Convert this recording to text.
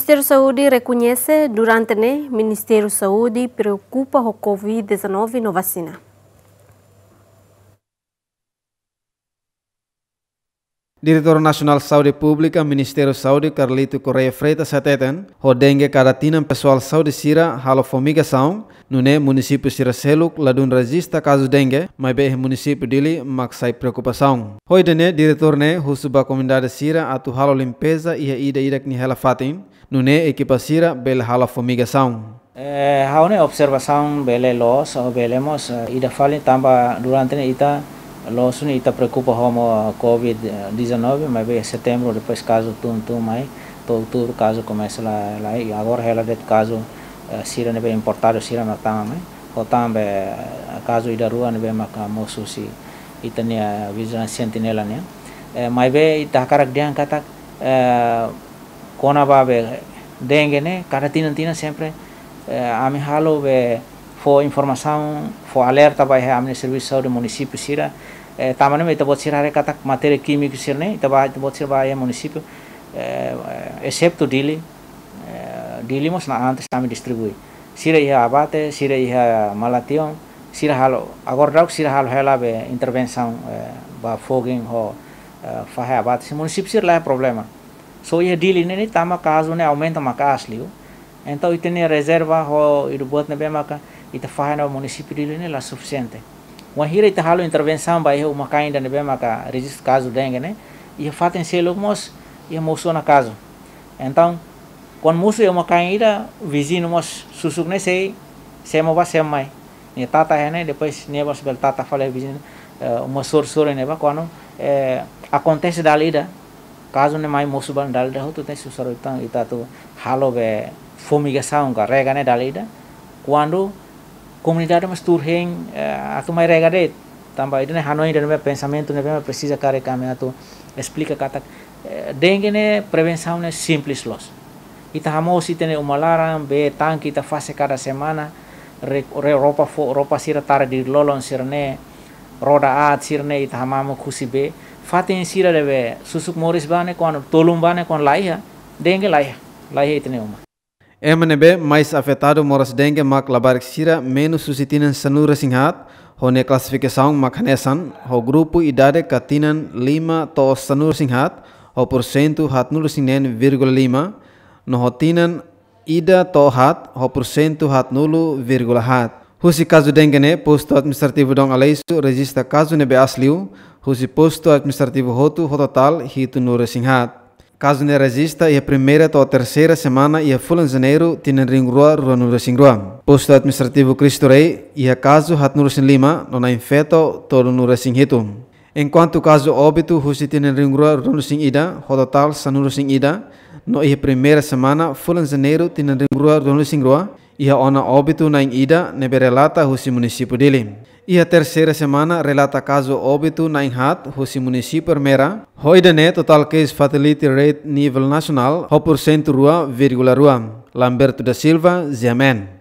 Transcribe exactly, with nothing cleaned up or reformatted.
Ministériu Saúde rekoñese durante ne'e Ministériu Saúde preokupa ho covid dezanove no vasina. Diretór Nasionál Saúde Públika Ministériu Saúde Carlito Correia Freitas hateten, ho dengue kada tinan pesoál saúde sira halo fumigasaun, nune'e munisípiu sira seluk ladún rejista kazu dengue, maibé iha munisípiu Dili mak sai preokupasaun. Ho ida-ne'e diretór ne'e husu ba komunidade sira atu halo limpeza iha ida-idak nia hela fatin, nune'e ekipa sira bele halo fumigasaun. Eh, ha'u-nia observasaun bele loos, ou bele mós, eh, ida fali tanba durante ne'e ita loos ne'e ita preokupa ho covid dezanove, maibé setembru depois kazu tun tun mai, to'o outubru kazu komesa la, la, i agora hela de'it kazu, eh, sira ne'ebé importadu sira mak tama mai, ho tanba, eh, kazu ida rua ne'ebé maka mosu husi ita-nia Vigilância Sentinela nian. Eh, maibé ita hakarak dehan katak, eh, kona-ba be dengue ne'e, kada tinan-tinan sempre, eh, ami halo be fó informasaun, fó alerta ba iha ami-nia servisu saúde munisípiu sira. Eh, tanba ne'e ita-boot sira haree katak matéria kímiku sira-ne'e, ita ba, ita-boot sira ba iha munisípiu, eh, eh, exetu Dili, eh, Dili mós ne'e antes ami distribui. Sira iha Abate, sira iha Mala-Tion, sira halo, agora daudauk sira halo hela be intervensaun, eh, ba Fogen ho, eh, fahe Abate. Sira munisípiu sira la iha problema. Só iha Dili ne'e, ne'e tanba kazu ne'e aumenta maka'as liu. Entaun ita-nia rezerva ho ida-boot ne'ebé maka ita fahe ona ba munisípiu Dili ne'e la sufisiente. Wainhira ita halo intervensaun ba iha uma-kain ida ne'ebé maka rejista kazu dengue ne'e, iha fatin seluk mós iha mosu ona kazu. Entaun, kuandu mosu iha uma-kain ida, viziñu mós susuk ne'e sei, sei ema ba sei ema mai. Nia tata iha ne'e, depois nia mós bele tata fali viziñu, eh, uma sorin-sorin ne'ebá, kuandu, eh, akontese dala ida, kazu ne'e mai mosu ba dala ida hotu, tenke susar ita, ita atu halo be fumigasaun ka rega ne'e dala ida. Kuandu komunidade mós tuur hein, eh, atu mai rega de'it. Tanba ida-ne'e hanoin ida-ne'e, pensamentu ne'ebé presiza karik ami atu esplika katak, eh, dengue ne'e prevensaun ne'e simples loos. Ita hamoos ita-nia uma laran, bee tanke ita fase kada semana, re-, re-, roupa fo-, roupa sira tara di'ak lolon sira-ne'e, roda aat sira-ne'e ita hamamuk husi bee. Fatin sira ne'ebé susuk moris ba ne'e kuandu tolun ba ne'e kuandu la iha, dengue la iha, la iha ita-nia uma. Ema ne'ebé mais afetadu moras dengue mak labarik sira menus husi tinan sanulu-resin-haat, ho nia klasifikasaun mak hanesan, ho grupu idade ka tinan lima to'o sanulu-resin-haat, ho pursentu haatnulu-resin-neen vírgula lima, no ho tinan ida to'o haat, ho pursentu haatnulu vírgula haat. Husi kazu dengue ne'e, Postu Administrativu Dom Aleixo rejista kazu ne'ebé aas liu, husi postu administrativu hotu ho totál hitunulu-resin-haat. Kazu ne'e rejista iha primeira to'o terseira semana iha fulan Janeiru tinan rihun rua ruanulu-resin-rua. Postu Administrativu Cristo Rei iha kazu haatnulu-resin-lima no na'in-feto tolunulu-resin-hitu. Enkuantu kazu óbitu husi tinan rihun rua ruanulu-resin-ida, ho totál sanulu-resin-ida, no iha primeira semana fulan Janeiru tinan rihun rua ruanulu-resin-rua, iha ona óbitu na'in-ida ne'ebé relata husi munisípiu Dili. Iha terseira semana relata kazu óbitu na'in-haat husi munisípiu Ermera, ho ida-ne'e totál case fatality rate nivel nasionál ho pursentu rua vírgula rua. Lamberto da Silva, G M N.